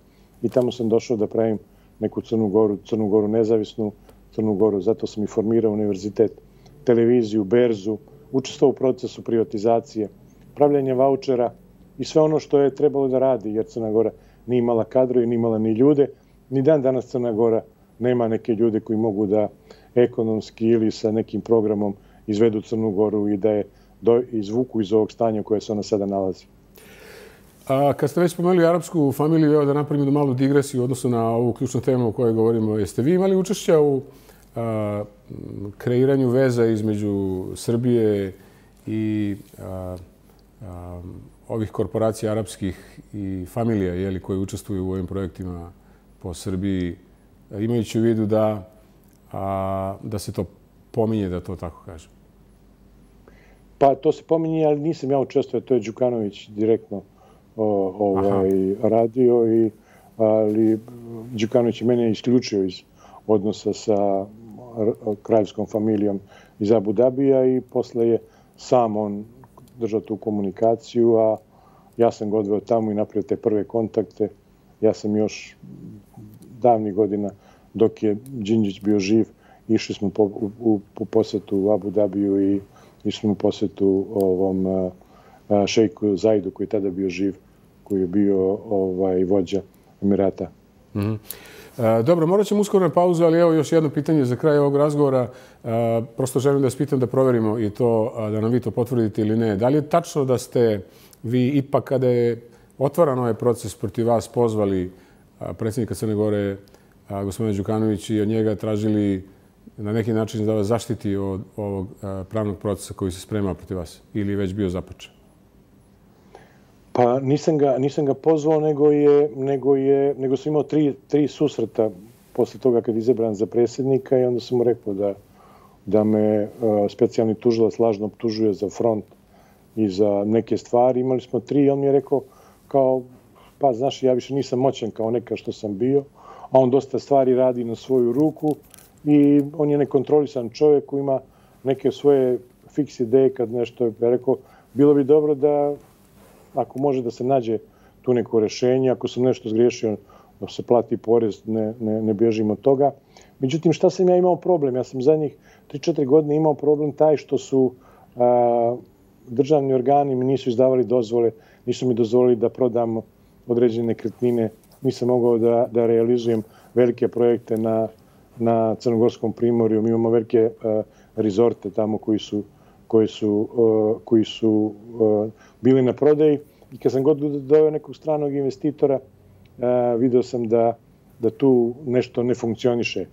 i tamo sam došao da pravim neku Crnu Goru, Crnu Goru nezavisnu, Crnu Goru, zato sam i formirao univerzitet, televiziju, berzu, učestvovao u procesu privatizacije, pravljanje vaučera i sve ono što je trebalo da radi, jer Crna Gora nije imala kadrove, nije imala ni ljude, ni dan danas Crna Gora nema neke ljude koji mogu da ekonomski ili sa nekim programom izvedu Crnu Goru i da je do, izvuku iz ovog stanja u koje se ona sada nalazi. A kad ste već spomenuli arapsku familiju, evo da napravim jednu malu digresiju u odnosu na ovu ključnu temu o kojoj govorimo. Jeste vi imali učešća u a, kreiranju veza između Srbije i a, a, ovih korporacija arapskih i familija jeli, koji učestvuju u ovim projektima po Srbiji, imajući u vidu da, a, da se to pominje, da to tako kažem? Pa to se pominje, ali nisam ja učestvovao, to je Đukanović direktno ovaj, radio, i, ali Đukanović je mene isključio iz odnosa sa kraljevskom familijom iz Abu Dabija i posle je sam on držao tu komunikaciju, a ja sam ga odveo tamo i napravio te prve kontakte. Ja sam još davnih godina, dok je Đinđić bio živ, išli smo po, u, u posetu u Abu Dabiju i išli smo u posetu ovom a, a, šejku Zaidu, koji je tada bio živ, koji je bio ovaj, vođa Emirata. Mm-hmm. E, dobro, morat ćemo uskoro na pauzu, ali evo još jedno pitanje za kraj ovog razgovora. E, prosto želim da vas pitam da proverimo i to, da nam vi to potvrdite ili ne. Da li je tačno da ste vi ipak, kada je otvaran ovaj proces protiv vas, pozvali predsjednika Crne Gore, gospodina Đukanovića, i od njega tražili na neki način da vas zaštiti od ovog pravnog procesa koji se sprema protiv vas, ili je već bio započet? Pa nisam ga, nisam ga pozvao, nego je, nego je, nego sam imao tri, tri susreta posle toga kad je izabran za predsjednika, i onda sam mu rekao da, da me uh, specijalni tužilac lažno optužuje za front i za neke stvari. Imali smo tri i on mi je rekao kao, pa znaš, ja više nisam moćan kao neka što sam bio, a on dosta stvari radi na svoju ruku i on je nekontrolisan čovjek koji ima neke svoje fiks ideje kad nešto je rekao. Bilo bi dobro da, ako može da se nađe tu neko rješenje, ako sam nešto zgriješio, da se plati porez, ne, ne, ne bježim od toga. Međutim, šta sam ja imao problem? Ja sam zadnjih tri četiri godine imao problem taj što su a, državni organi mi nisu izdavali dozvole, nisu mi dozvolili da prodam određene nekretnine, nisam mogao da, da realizujem velike projekte na, na Crnogorskom primorju. Mi imamo velike uh, rezorte tamo koji su, koji su, uh, koji su uh, bili na prodaji, i kad sam god doveo nekog stranog investitora, uh, video sam da, da tu nešto ne funkcioniše.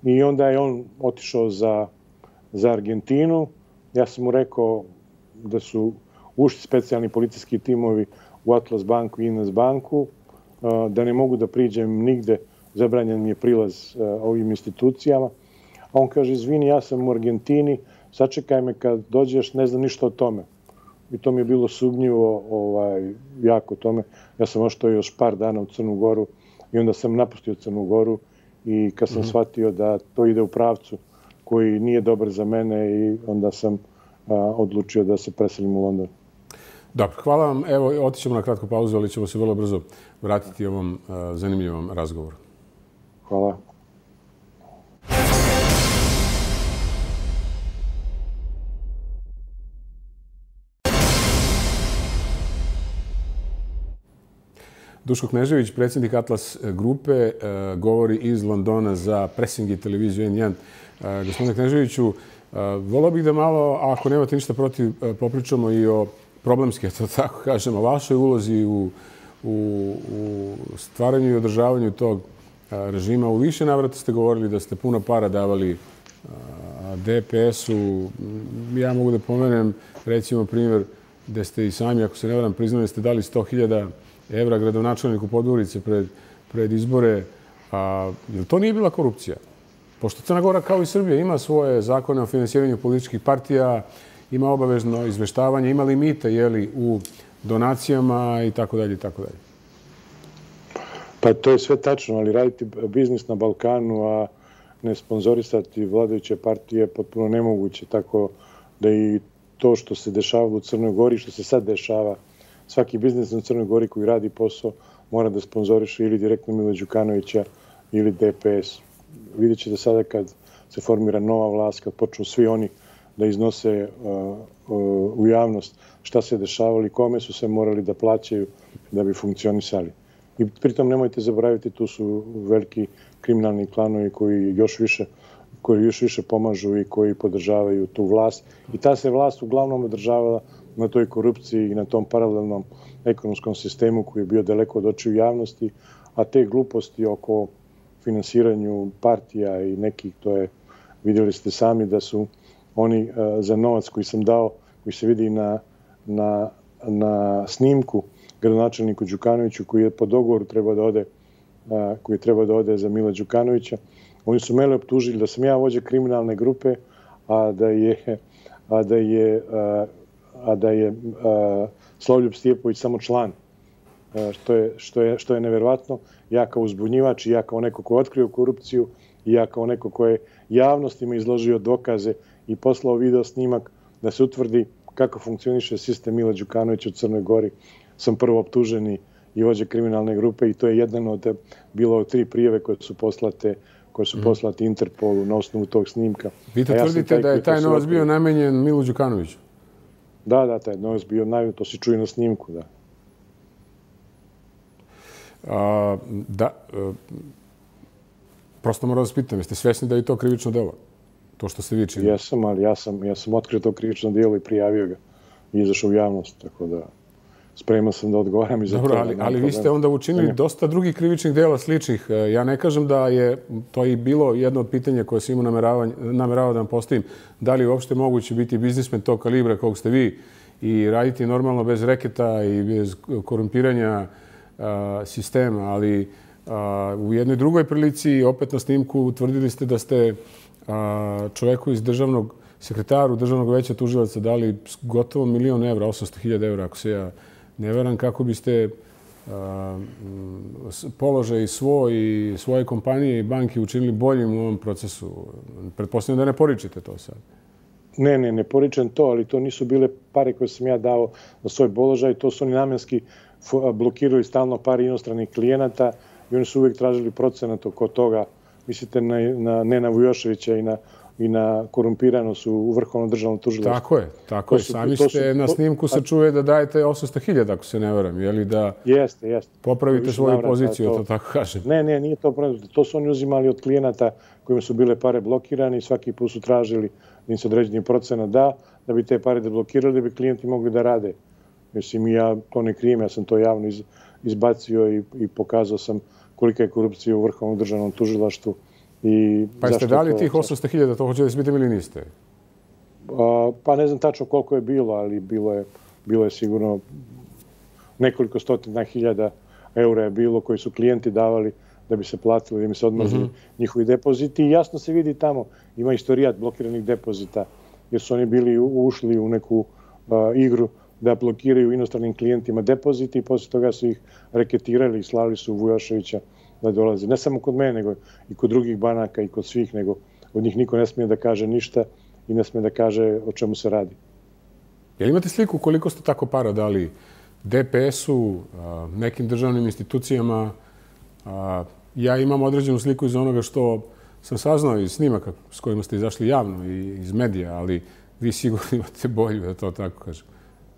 I onda je on otišao za, za Argentinu. Ja sam mu rekao da su ušli specijalni policijski timovi u Atlas banku i Ines banku, da ne mogu da priđem nigde, zabranjen mi je prilaz ovim institucijama. A on kaže, izvini, ja sam u Argentini, sačekaj me kad dođeš, ne znam ništa o tome. I to mi je bilo sumnjivo, ovaj, jako tome. Ja sam oštao još par dana u Crnu Goru i onda sam napustio Crnu Goru, i kad sam mm-hmm. shvatio da to ide u pravcu koji nije dobar za mene, i onda sam a, odlučio da se preselim u London. Dobro, hvala vam. Evo, otićemo na kratku pauzu, ali ćemo se vrlo brzo vratiti ovom uh, zanimljivom razgovoru. Hvala. Duško Knežević, predsjednik Atlas grupe, uh, govori iz Londona za Pressing i televiziju N jedan. Uh, gospodine Kneževiću, uh, volio bih da malo, ako nemate ništa protiv, uh, popričamo i o problemski, to tako kažem, o vašoj ulozi u, u, u stvaranju i održavanju tog a, režima. U više navrata ste govorili da ste puno para davali D P S-u. Ja mogu da pomenem, recimo, primjer gde ste i sami, ako se ne varam, priznali da ste dali sto hiljada evra gradonačelniku Podgorice pred, pred izbore. A, jel to nije bila korupcija? Pošto Crna Gora, kao i Srbija, ima svoje zakone o finansiranju političkih partija, ima obavezno izveštavanje, ima limite, jeli, u donacijama i tako dalje i tako dalje. Pa to je sve tačno, ali raditi biznis na Balkanu, a ne sponzorisati vladajuće partije je potpuno nemoguće, tako da i to što se dešava u Crnoj Gori, što se sad dešava, svaki biznis na Crnoj Gori koji radi posao mora da sponzoriše ili direktno Mila Đukanovića ili D P S. Vidjet ćete sada kad se formira nova vlast, kad počnu svi oni da iznose uh, uh, u javnost šta se dešavalo i kome su se morali da plaćaju da bi funkcionisali. I pritom nemojte zaboraviti, tu su veliki kriminalni klanovi koji još više, koji još više pomažu i koji podržavaju tu vlast. I ta se vlast uglavnom održavala na toj korupciji i na tom paralelnom ekonomskom sistemu koji je bio daleko od očiju javnosti, a te gluposti oko finansiranju partija i nekih, to je, vidjeli ste sami da su oni uh, za novac koji sam dao, koji se vidi na, na, na snimku gradonačelniku Đukanoviću, koji je po dogovoru treba da ode, uh, koji treba da ode za Mila Đukanovića. Oni su mene optužili da sam ja vođa kriminalne grupe, a da je, a da je, uh, a da je uh, Slavljub Stijepović samo član što je, što je, što je neverovatno. Ja kao uzbunjivač i ja kao neko ko je otkrio korupciju i ja kao neko ko je javnostima izložio dokaze i poslao video snimak da se utvrdi kako funkcioniše sistem Mila Đukanovića u Crnoj Gori, sam prvo optuženi i vođa kriminalne grupe i to je jedan od bilo od tri prijave koje su poslate koje su poslati Interpolu na osnovu tog snimka. Vi to tvrdite da je taj novac bio namenjen Milu Đukanoviću? Da, da, taj novac bio namenjen, to se čuje na snimku, da. A, da, prosto moram da vas pitam, jeste svesni da je to krivično delo? To što ste vi činili? Jesam, ali ja sam, ja sam otkrio to krivično delo i prijavio ga i izašao u javnost, tako da spreman sam da odgovaram i za to. Dobro, ali, ali vi ste onda učinili dosta drugih krivičnih dela sličnih. Ja ne kažem da je to i bilo jedno od pitanja koje sam imao nameravao da vam postavim. Da li je uopšte moguće biti biznismen tog kalibra kog ste vi i raditi normalno bez reketa i bez korumpiranja a, sistema, ali a, u jednoj drugoj prilici, opet na snimku, utvrdili ste da ste a, čoveku iz državnog sekretaru Državnog veća tužilaca dali gotovo milion evra, osamsto hiljada evra, ako se ja ne veram, kako biste a, položaj svoj i svoje kompanije i banke učinili boljim u ovom procesu. Pretpostavljam da ne poričete to sad. Ne, ne, ne poričem to, ali to nisu bile pare koje sam ja dao na svoj položaj. To su oni namenski blokirali stalno pare inostranih klijenata i oni su uvijek tražili procenat oko toga. Mislite na, na Nena Vujoševića i na i na korumpiranost u Vrhovnom državnom tužilaštvu. Tako je, tako je. Sami ste na snimku se čuje da dajete osamsto hiljada, ako se ne varam, je li da jeste, jeste. Popravite svoju poziciju, to tako kažem. Ne, ne, nije to pravno. To su oni uzimali od klijenata kojima su bile pare blokirane i svaki put su tražili da im se određeni procenat da, da bi te pare deblokirali, da bi klijenti mogli da rade. Mislim, ja to ne krijem, ja sam to javno iz, izbacio i, i pokazao sam kolika je korupcija u Vrhovnom državnom tužilaštvu. I pa jeste dali tih osamsto hiljada, to hoćete da se pitam ili niste? A, pa ne znam tačno koliko je bilo, ali bilo je, bilo je sigurno nekoliko stotina hiljada eura je bilo koji su klijenti davali da bi se platili, da bi se odmazili mm-hmm. njihovi depoziti. I jasno se vidi tamo, ima istorijat blokiranih depozita, jer su oni bili ušli u neku a, igru da blokiraju inostranim klijentima depoziti i poslije toga su ih reketirali i slali su Vujoševića da dolazi. Ne samo kod mene, nego i kod drugih banaka i kod svih, nego od njih niko ne smije da kaže ništa i ne smije da kaže o čemu se radi. Jel imate sliku koliko ste tako para dali D P S-u, nekim državnim institucijama? Ja imam određenu sliku iz onoga što sam saznao iz snimaka s kojima ste izašli javno i iz medija, ali vi sigurno imate bolju, da to tako kažem.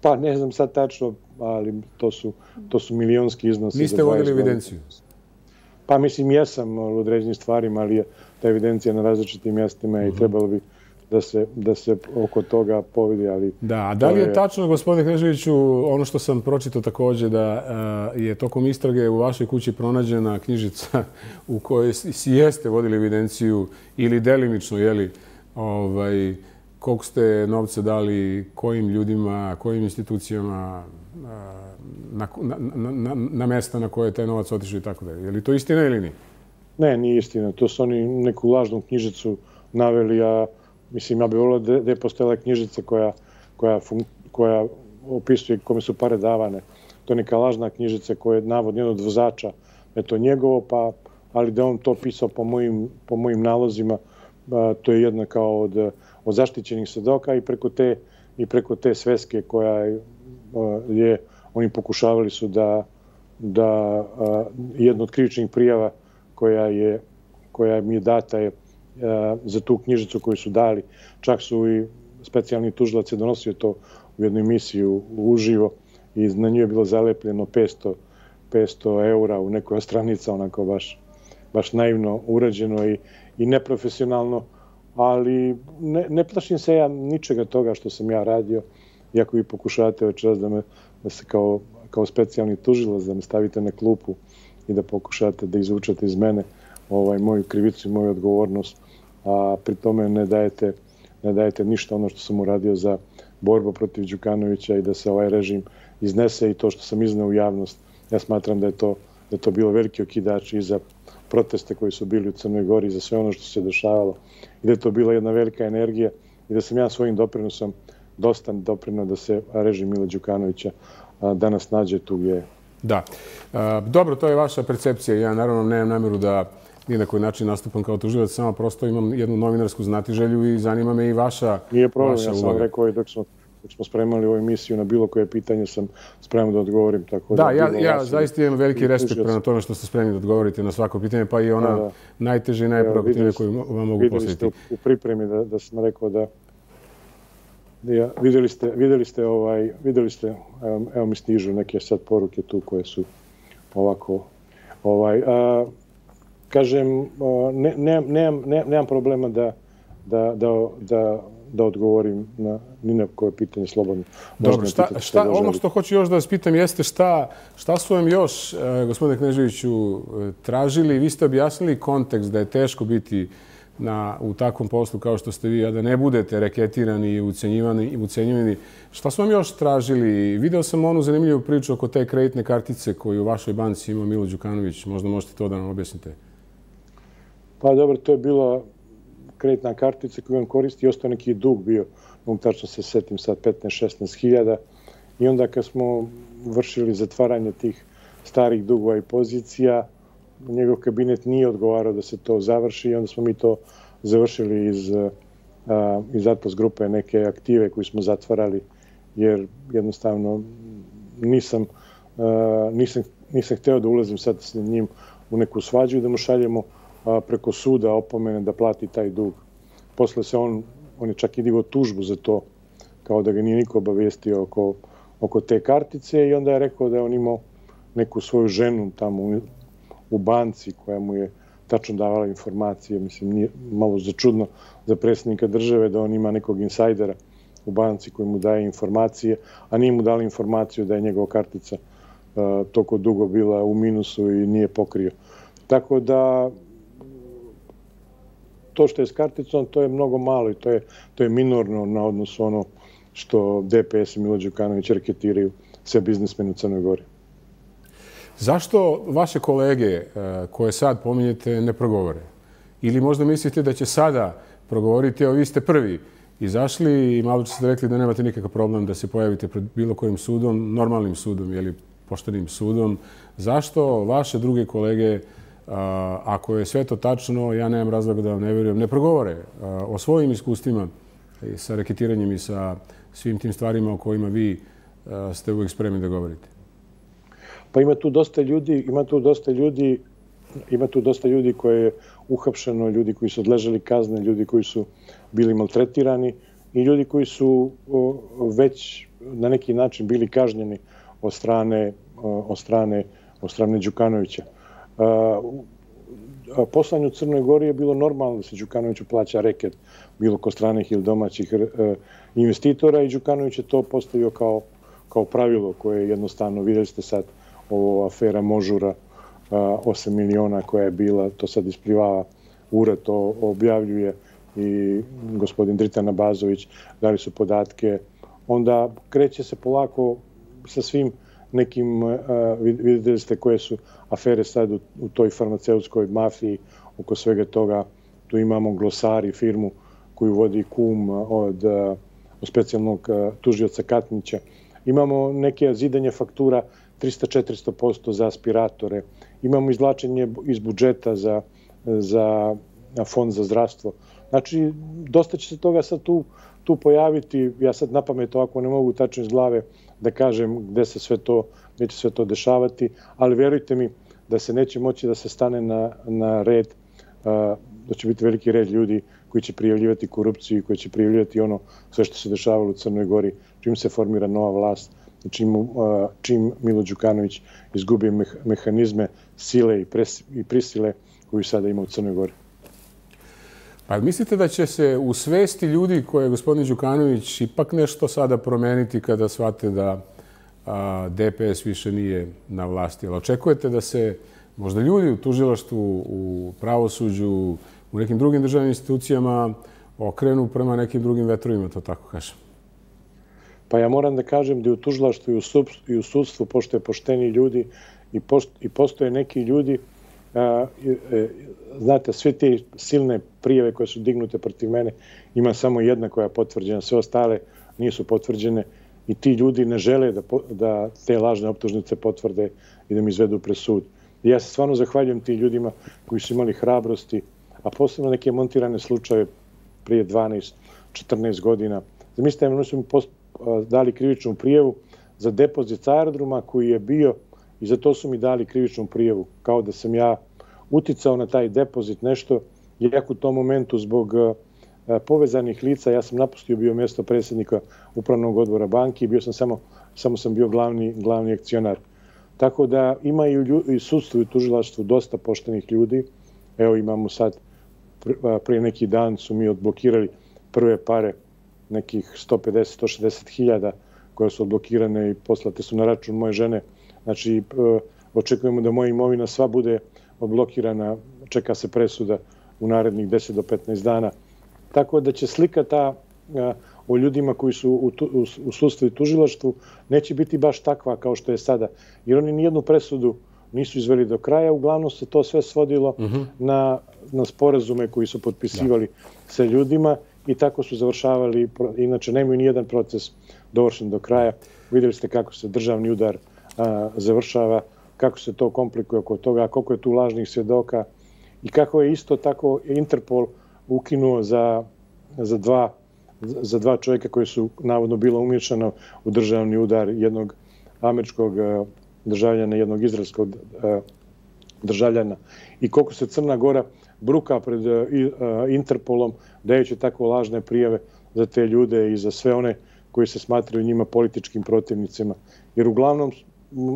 Pa ne znam sad tačno, ali to su, to su milionski iznosi. Niste vodili evidenciju? Pa mislim, jesam u određenim stvarima, ali je ta evidencija na različitim mjestima i trebalo bi da se, da se oko toga povidi. Ali da, a da li je tačno, gospodine Kneževiću, ono što sam pročitao također, da uh, je tokom istrage u vašoj kući pronađena knjižica u kojoj si jeste vodili evidenciju ili delimično, jeli, ovaj, koliko ste novce dali, kojim ljudima, kojim institucijama, uh, na, na, na, na mjesta na koje je taj novac otišao i tako dalje. Je li to istina ili nije? Ne, nije istina. To su oni neku lažnu knjižicu naveli, a mislim, ja bih volio da, da je postojala knjižica koja, koja, fun, koja opisuje kome su pare davane. To je neka lažna knjižica koja je navodno jedan od vozača. Eto, njegovo, pa, ali da on to pisao po mojim, po mojim nalozima, a, to je jedna kao od, od zaštićenih svedoka i preko te, i preko te sveske koja je, a, je oni pokušavali su da, da a, jedno od krivičnih prijava koja, je, koja mi je data je a, za tu knjižicu koju su dali. Čak su i specijalni tužilac je donosio to u jednoj emisiji u, u uživo i na nju je bilo zalepljeno petsto eura u nekoj stranica, onako baš, baš naivno urađeno i, i neprofesionalno, ali ne, ne plašim se ja ničega toga što sam ja radio, iako vi pokušavate večeras da me da se kao, kao specijalni tužilac da me stavite na klupu i da pokušate da izvučete iz mene ovaj, moju krivicu i moju odgovornost, a pri tome ne dajete, ne dajete ništa ono što sam uradio za borbu protiv Đukanovića i da se ovaj režim iznese i to što sam izneo u javnost. Ja smatram da je to, da je to bilo veliki okidač i za proteste koji su bili u Crnoj Gori, za sve ono što se dešavalo i da je to bila jedna velika energija i da sam ja svojim doprinosom dosta doprinuo da se režim Mila Đukanovića danas nađe tu gdje je. Da. Dobro, to je vaša percepcija. Ja naravno nemam namjeru da ni na koji način nastupam kao tužilac, samo prosto imam jednu novinarsku znatiželju i zanima me i vaša uloga. Nije problem, ja sam rekao i dok smo dok smo spremali ovu emisiju na bilo koje pitanje sam spreman da odgovorim. Tako da, ja, ja zaista imam veliki respekt prema tome što ste spremni da odgovorite na svako pitanje, pa i ona da, da. najteže i najprovokativnije koju vam mogu postaviti. Vidjeli ste u pripremi da, da sam rekao da ja, vidjeli ste, vidjeli ste, ovaj, vidjeli ste evo, evo mi stižu neke sad poruke tu koje su ovako, ovaj, a, kažem, ne, ne, nemam, ne, nemam problema da, da, da, da da odgovorim na ni na koje pitanje slobodno. Dobro, šta, šta, ono što hoću još da vas pitam jeste šta, šta su vam još, eh, gospodine Kneževiću, tražili? Vi ste objasnili kontekst da je teško biti na, u takvom poslu kao što ste vi, a da ne budete reketirani i ucenjivani, i ucenjivani. Šta su vam još tražili? Video sam onu zanimljivu priču oko te kreditne kartice koju u vašoj banci ima Milo Đukanović. Možda možete to da nam objasnite. Pa dobro, to je bila kreditna kartica koju on koristi i ostao neki dug bio, mogu tačno se setim sad petnaest šesnaest hiljada. I onda kad smo vršili zatvaranje tih starih dugova i pozicija, njegov kabinet nije odgovarao da se to završi i onda smo mi to završili iz, a, iz Atlas grupe neke aktive koje smo zatvarali jer jednostavno nisam, a, nisam, nisam hteo da ulazim sad s njim u neku svađu i da mu šaljemo preko suda opomene da plati taj dug. Posle se on, on je čak i digao tužbu za to, kao da ga nije niko obavijestio oko, oko te kartice i onda je rekao da je on imao neku svoju ženu tamo u, u banci koja mu je tačno davala informacije. Mislim, nije malo začudno za predsjednika države da on ima nekog insajdera u banci koji mu daje informacije, a nije mu dali informaciju da je njegova kartica uh, toliko dugo bila u minusu i nije pokrio. Tako da to što je s karticom, to je mnogo malo i to je, to je minorno na odnosu ono što D P S i Milo Đukanović reketiraju sve biznismene u Crnoj Gori. Zašto vaše kolege koje sad pominjete ne progovore? Ili možda mislite da će sada progovoriti, evo vi ste prvi izašli i malo ste rekli da nemate nikakav problem da se pojavite pred bilo kojim sudom, normalnim sudom ili poštenim sudom. Zašto vaše druge kolege, ako je sve to tačno, ja nemam razloga da vam ne vjerujem, ne progovore o svojim iskustvima sa reketiranjem i sa svim tim stvarima o kojima vi ste uvijek spremni da govorite? Pa ima tu dosta ljudi, ima tu dosta ljudi, ima tu dosta ljudi koje je uhapšeno, ljudi koji su odležali kazne, ljudi koji su bili maltretirani i ljudi koji su već na neki način bili kažnjeni od strane, od strane, od strane Đukanovića. Poslanje u Crnoj Gori je bilo normalno da se Đukanoviću plaća reket bilo kod stranih ili domaćih investitora i Đukanović je to postavio kao, kao pravilo koje je jednostavno, vidjeli ste sad ovo afera Možura, osam miliona koja je bila, to sad isplivava, ured to objavljuje i gospodin Dritan Abazović dali su podatke. Onda kreće se polako sa svim nekim, vidjeli ste koje su afere sad u, u toj farmaceutskoj mafiji oko svega toga. Tu imamo Glosari, firmu koju vodi kum od, od specijalnog tužioca Katnića. Imamo neke zidanje faktura trista do četiristo posto za aspiratore. Imamo izvlačenje iz budžeta za, za fond za zdravstvo. Znači, dosta će se toga sad tu, tu pojaviti. Ja sad napamet ovako ne mogu tačno iz glave da kažem gde se sve to, gde će sve to dešavati, ali vjerujte mi da se neće moći da se stane na, na red, da će biti veliki red ljudi koji će prijavljivati korupciju i koji će prijavljivati ono sve što se dešavalo u Crnoj Gori, čim se formira nova vlast, čim, čim Milo Đukanović izgubi mehanizme sile i, pres, i prisile koju sada ima u Crnoj Gori. Pa mislite da će se u svesti ljudi koje je gospodin Đukanović ipak nešto sada promeniti kada shvate da a, D P S više nije na vlasti? Ali očekujete da se možda ljudi u tužilaštvu, u pravosuđu, u nekim drugim državnim institucijama okrenu prema nekim drugim vetrovima, to tako kažem? Pa ja moram da kažem da i u tužilaštvu i u, sub, i u sudstvu postoje pošteni ljudi i, post, i postoje neki ljudi. A, e, znate, sve te silne prijave koje su dignute protiv mene, ima samo jedna koja je potvrđena, sve ostale nisu potvrđene i ti ljudi ne žele da, da te lažne optužnice potvrde i da mi izvedu pred sud. I ja se stvarno zahvaljujem tim ljudima koji su imali hrabrosti, a posebno neke montirane slučaje prije dvanaest četrnaest godina. Zamislite, oni su mi dali krivičnu prijavu za depozit sa aerodroma koji je bio i za to su mi dali krivičnu prijavu, kao da sam ja uticao na taj depozit nešto, iako u tom momentu zbog povezanih lica, ja sam napustio bio mjesto predsjednika upravnog odbora banke i bio sam samo, samo sam bio glavni, glavni akcionar. Tako da ima i sudstvu i tužilaštvu dosta poštenih ljudi. Evo imamo sad, prije neki dan su mi odblokirali prve pare, nekih sto pedeset do sto šezdeset hiljada koje su odblokirane i poslate su na račun moje žene. Znači, očekujemo da moja imovina sva bude odblokirana, čeka se presuda u narednih deset do petnaest dana. Tako da će slika ta o ljudima koji su u, u, u sudstvu i tužilaštvu neće biti baš takva kao što je sada. Jer oni nijednu presudu nisu izveli do kraja. Uglavnom se to sve svodilo uh-huh. na, na sporazume koji su potpisivali da. sa ljudima i tako su završavali. Inače, nemaju nijedan proces dovršen do kraja. Vidjeli ste kako se državni udar a, završava, kako se to komplikuje oko toga, koliko je tu lažnih svjedoka i kako je isto tako Interpol ukinuo za, za, dva, za dva čovjeka koji su navodno bilo umješano u državni udar jednog američkog državljana, jednog izraelskog državljana. I koliko se Crna Gora bruka pred Interpolom dajući tako lažne prijave za te ljude i za sve one koji se smatraju njima političkim protivnicima. Jer uglavnom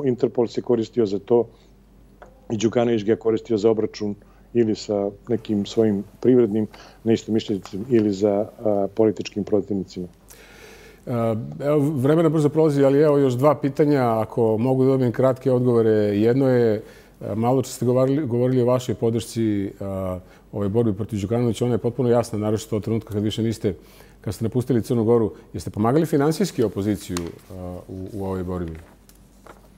Interpol se koristio za to i Đukanović ga je koristio za obračun ili sa nekim svojim privrednim neistomišljenicima ili za a, političkim protivnicima. Evo, vremena brzo prolazi, ali evo još dva pitanja, ako mogu da dobijem kratke odgovore. Jedno je, malo čas ste govorili, govorili o vašoj podršci ove borbi protiv Đukanovića, ona je potpuno jasna, naročito od trenutka kad više niste, kad ste napustili Crnu Goru. Jeste pomagali finansijski opoziciju u, u ovoj borbi?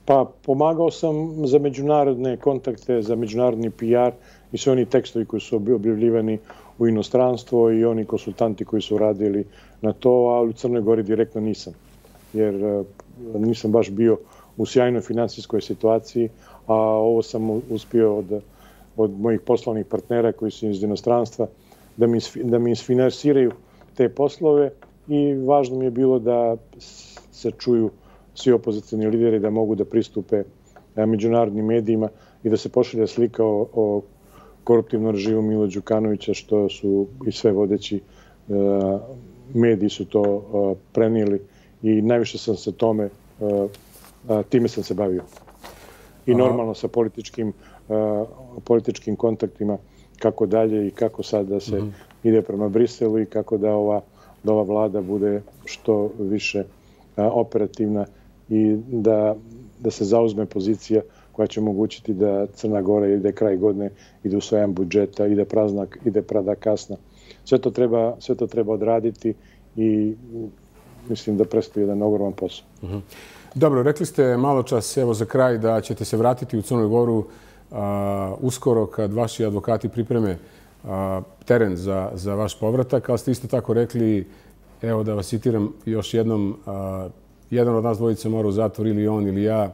Pa pomagao sam za međunarodne kontakte, za međunarodni P R i sve oni tekstovi koji su objavljivani u inostranstvo i oni konsultanti koji su radili na to, a u Crnoj Gori direktno nisam. Jer nisam baš bio u sjajnoj finansijskoj situaciji, a ovo sam uspio od, od mojih poslovnih partnera koji su iz inostranstva da mi, da mi isfinansiraju te poslove i važno mi je bilo da se čuju svi opozicijni lideri, da mogu da pristupe međunarodnim medijima i da se pošalja slika o, o koruptivnom režimu Mila Đukanovića, što su i sve vodeći uh, mediji su to uh, prenijeli i najviše sam se tome, uh, uh, time sam se bavio. I normalno sa političkim, uh, političkim kontaktima kako dalje i kako sad da se mm-hmm. ide prema Briselu i kako da ova, da ova vlada bude što više uh, operativna i da, da se zauzme pozicija koja će omogućiti da Crna Gora ide kraj godine, ide usvajanje budžeta, ide praznak, ide prada kasna. Sve to treba, sve to treba odraditi i mislim da predstoji jedan ogroman posao. Uh-huh. Dobro, rekli ste malo čas, evo za kraj, da ćete se vratiti u Crnu Goru a, uskoro kad vaši advokati pripreme a, teren za, za vaš povratak, ali ste isto tako rekli, evo da vas citiram još jednom, a, jedan od nas dvojice mora u zatvor, ili on ili ja.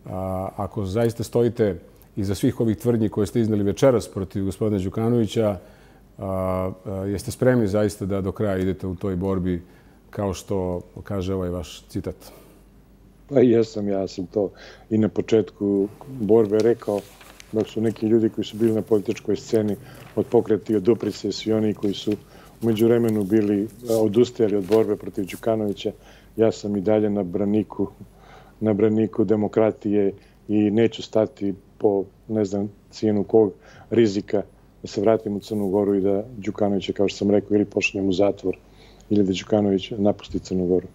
A, ako zaista stojite iza svih ovih tvrdnji koje ste iznali večeras protiv gospodina Đukanovića, a, a, jeste spremni zaista da do kraja idete u toj borbi, kao što kaže ovaj vaš citat? Pa jesam, ja sam to i na početku borbe rekao, dok su neki ljudi koji su bili na političkoj sceni od Pokreta i od Duprice, svi oni koji su u međuvremenu bili odustajali od borbe protiv Đukanovića, ja sam i dalje na braniku, na braniku demokratije i neću stati po, ne znam, cijenu kog rizika da se vratim u Crnu Goru i da Đukanovića, kao što sam rekao, ili pošaljem u zatvor ili da Đukanović napusti Crnu Goru.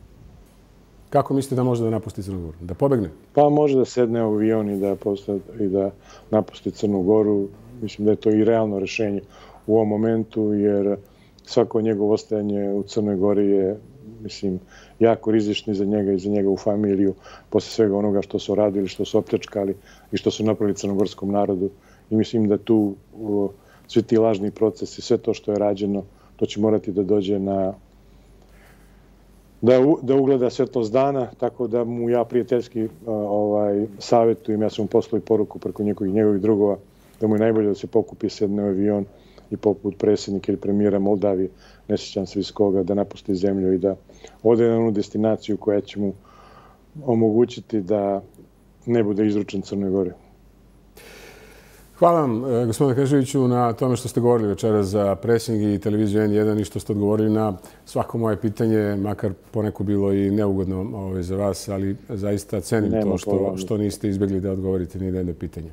Kako mislite da može da napusti Crnu Goru? Da pobegne? Pa može da sedne u avion i da, posta, i da napusti Crnu Goru. Mislim da je to i realno rješenje u ovom momentu, jer svako njegovo ostajanje u Crnoj Gori je, mislim, jako rizični za njega i za njegovu familiju, posle svega onoga što su radili, što su opljačkali i što su napravili crnogorskom narodu. I mislim da tu o, svi ti lažni procesi, sve to što je rađeno, to će morati da dođe na, da, da ugleda svetost dana, tako da mu ja prijateljski ovaj, savjetujem, ja sam mu poslao i poruku preko njegovih, njegovih drugova, da mu je najbolje da se pokupi, sedne u avion i poput predsjednika ili premijera Moldavije, ne sjećam se iz koga, da napusti zemlju i da ode na onu destinaciju koja će mu omogućiti da ne bude izručen Crnoj Gori. Hvala vam, gospodine Kneževiću, na tome što ste govorili večeras za Presing i televiziju N jedan i što ste odgovorili na svako moje pitanje, makar poneko bilo i neugodno ovaj, za vas, ali zaista cenim Nema to što, što niste izbjegli da odgovorite ni na jedno pitanje.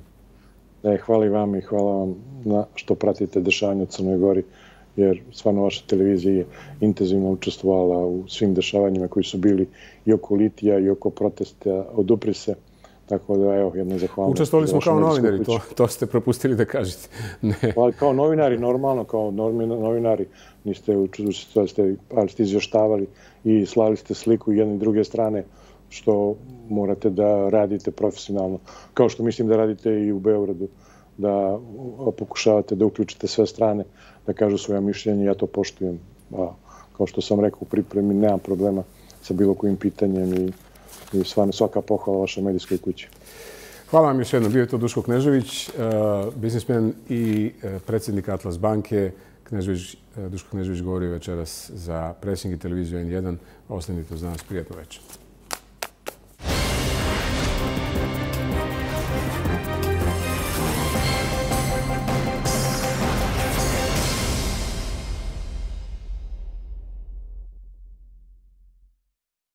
Ne, hvala i vam i hvala vam na što pratite dešavanje u Crnoj Gori, jer stvarno vaša televizija je intenzivno učestvovala u svim dešavanjima koji su bili i oko litija i oko protesta od Uprise. Tako da, evo, jedna zahvalnost. Učestvovali smo kao novinari, to, to ste propustili da kažete. Ne. Pa, kao novinari, normalno, kao novinari, niste učestvovali, ali ste izvještavali i slali ste sliku jedne i druge strane, što morate da radite profesionalno. Kao što mislim da radite i u Beogradu, da pokušavate da uključite sve strane, da kažu svoja mišljenja, ja to poštujem. A, kao što sam rekao u pripremi, nemam problema sa bilo kojim pitanjem i i stvarno svaka pohvala vašoj medijskoj kući. Hvala vam još jednom. Bio je to Duško Knežević, biznismen i predsjednik Atlas banke. Knežević, Duško Knežević govorio večeras za Presing i televiziju N jedan. Ostanite uz nas. Prijatno večer.